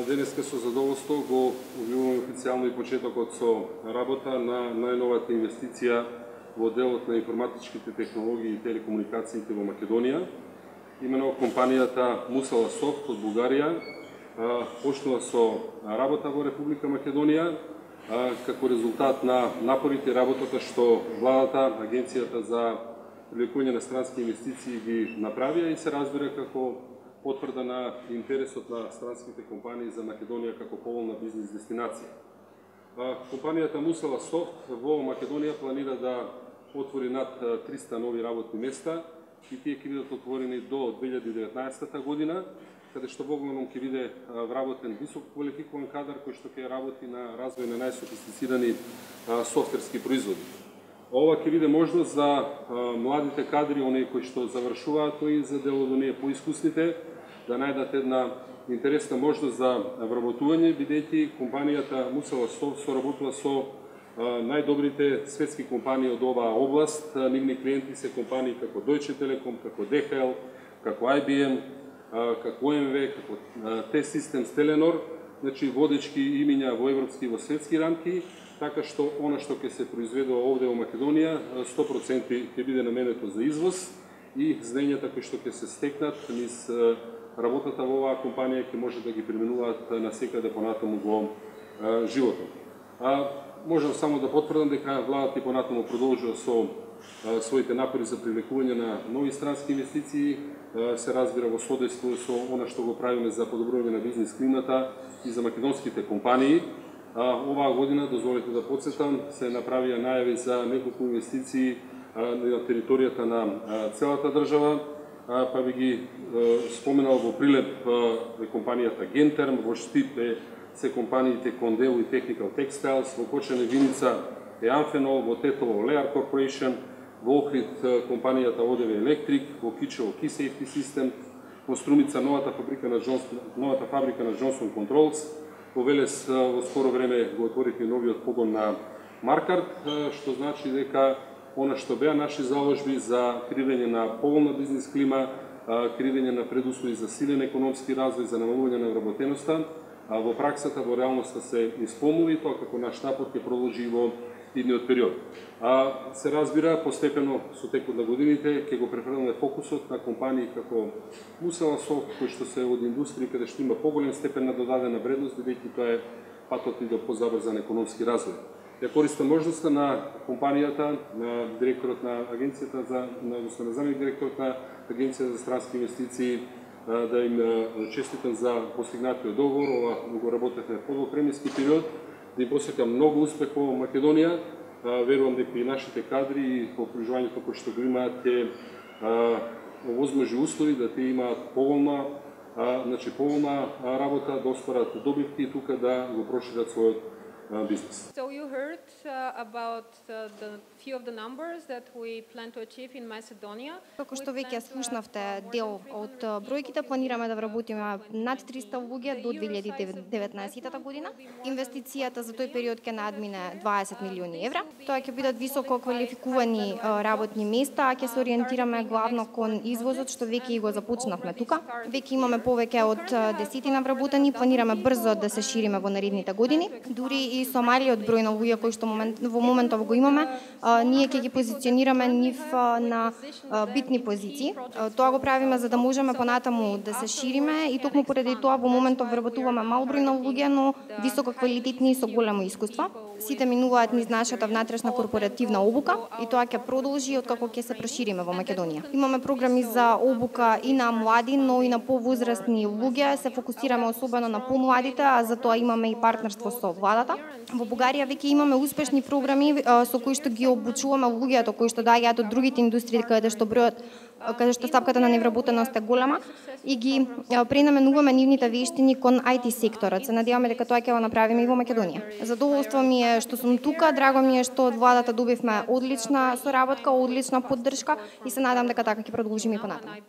денеска со задоволство го објавуваме официјално и почетокот со работа на најновата инвестиција во делот на информатичките технологии и телекомуникациите во Македонија. Имено компанијата Мусала Софт од Бугарија почнува со работа во Република Македонија како резултат на напорите и работата што владата, Агенцијата за привлекување на странски инвестиции ги направија и се разбира како потврда на интересот на странските компании за Македонија како поволна бизнес дестинација. Компанијата Мусала Софт во Македонија планира да отвори над 300 нови работни места и тие ќе бидат отворени до 2019 година, каде што во главном ќе биде вработен високо квалификуван кадар кој што ќе работи на развој на најсофистицирани софтверски производи. Ова ќе биде можност за младите кадри, оние кои што завршуваат и за дел од оние поискусните, да најдат една интересна можност за вработување, бидејќи компанијата Мусала Софт соработува со најдобрите светски компании од оваа област. Нивни клиенти се компании како Deutsche Telekom, како DHL, како IBM, како OMV, како T-Systems, Telenor, значи водечки имиња во европски и во светски рамки, така што она што ќе се произведува овде во Македонија 100% ќе биде наменето за извоз и знаењата кои што ќе се стекнат низ работата во оваа компанија ќе може да ги применуваат насекаде понатаму во животот. Можам само да потврдам дека владата и понатаму продолжува со своите напори за привлекување на нови странски инвестиции, се разбира во содейство со она што го правиме за подобрување на бизнес климата и за македонските компании. Оваа година, дозволете да подсетам, се направија најави за неколку инвестиции на територијата на целата држава, па би ги споменал во Прилеп компанијата Genterm, во Штип се компаниите Кондел и Technical Textiles, во Кочане Виница е Амфенол, во Тетово Lear Corporation, во Охрид компанијата ОДВ Електрик, во Кичево Key Safety System, во Струмица новата фабрика на Johnson Controls, во Велес во скоро време го отворихме новиот погон на Маркарт, што значи дека она што беа наши заложби за креирање на поволна бизнес клима, креирање на предуслови за силен економски развој, за намалување на вработеноста, во праксата, во реалноста се исполнува и тоа како наш напор ќе продолжи во идниот период. Се разбира, постепено со текот на годините ќе го префрлиме фокусот на компании како Мусала Софт, кои што се од индустрија каде што има поголем степен на додадена вредност, бидејќи тоа е патот и до позабрзан економски развој. Ја користам можноста на компанијата, на директорот на агенцијата на заместник директорот на Агенцијата за странски инвестиции, да им честитам за постигнатиот договор. Ова го работевме во премиски период, да им посакам многу успех во Македонија. Верувам дека и нашите кадри и по преживувањето кои што го имаат ќе овозможи услови да тие имаат поволна работа, да остварат добивки и тука да го прошират својот business. So you heard about the few of the numbers that we plan to achieve in Macedonia. Како што веќе слушнавте дел од бројките, планираме да вработиме над 300 луѓе до 2019 година. Инвестицијата за тој период ќе надмине 20 милиони евра. Тоа ќе бидат високо квалификувани работни места, а ќе се ориентираме главно кон извозот, што веќе и го започнавме тука. Веќе имаме повеќе од 10 вработени, планираме брзо да се шириме во наредните години. Дури и со малиот број на луѓе кои што во моментов го имаме, ние ќе ги позиционираме нив на битни позиции. Тоа го правиме за да можеме понатаму да се шириме и токму поради тоа во моментов вработуваме мал број на луѓе, но високо квалитетни и со големо искуство. Сите минуваат низ нашата внатрешна корпоративна обука и тоа ќе продолжи откако ќе се прошириме во Македонија. Имаме програми за обука и на млади, но и на повозрастни луѓе. Се фокусираме особено на помладите, а за тоа имаме и партнерство со владата. Во Бугарија веќе имаме успешни програми со кои што ги обучуваме луѓето кои што доаѓаат од другите индустрии каде што стапката на невработеност е голема и ги пренаменуваме нивните вештини кон IT секторот. Се надеваме дека тоа ќе го направиме и во Македонија. Задоволство ми е што сум тука, драго ми е што од владата добивме одлична соработка, одлична поддршка и се надам дека така ќе продолжиме и понатаму.